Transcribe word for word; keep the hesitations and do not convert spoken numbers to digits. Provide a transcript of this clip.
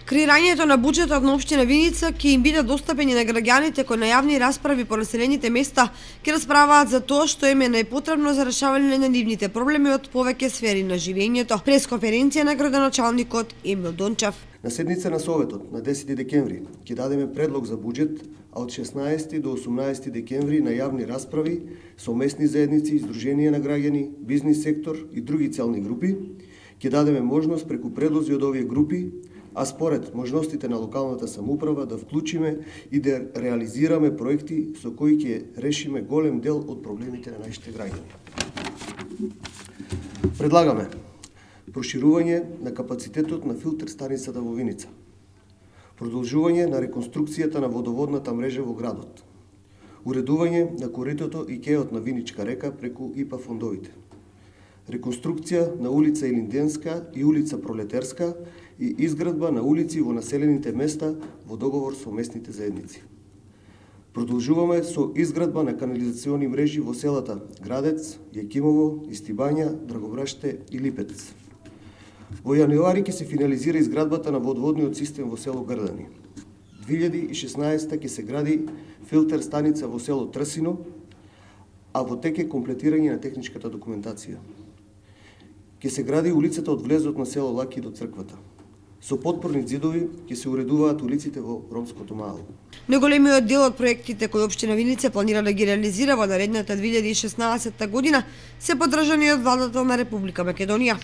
Креирањето на буџетот на општина Виница ќе им биде достапени на граѓаните кои на јавни расправи по населените места ќе расправаат за тоа што им е најпотребно за решавање на нивните проблеми од повеќе сфери на живењето. Пресконференција на градоначалникот Емил Дончев. На седница на Советот на десети декември ќе дадеме предлог за буџет, а од шеснаесети до осумнаесети декември на јавни расправи со местни заедници, издруженија на граѓани, бизнис сектор и други целни групи ќе дадеме можност преку предлози од овие групи, а според можностите на локалната самоуправа да вклучиме и да реализираме проекти со кои ќе решиме голем дел од проблемите на нашите граѓани. Предлагаме проширување на капацитетот на филтер станицата во Виница, продолжување на реконструкцијата на водоводната мрежа во градот, уредување на коритото и кеот на Виничка река преку ИПА фондовите, реконструкција на улица Илинденска и улица Пролетерска и изградба на улици во населените места во договор со местните заедници. Продолжуваме со изградба на канализациони мрежи во селата Градец, Јакимово, Истибања, Драгобраште и Липец. Во јануари ќе се финализира изградбата на водоводниот систем во село Грдани. две илјади и шеснаесета ќе се гради филтер станица во село Трсино, а во тек е комплетирање на техничката документација. Ќе се гради улицата од влезот на село Лаки до црквата. Со потпорни ѕидови ќе се уредуваат улиците во ромското мало. Најголемиот дел од проектите кои општина Виница планира да ги реализира во наредната две илјади и шеснаесета година се поддржани од владата на Република Македонија.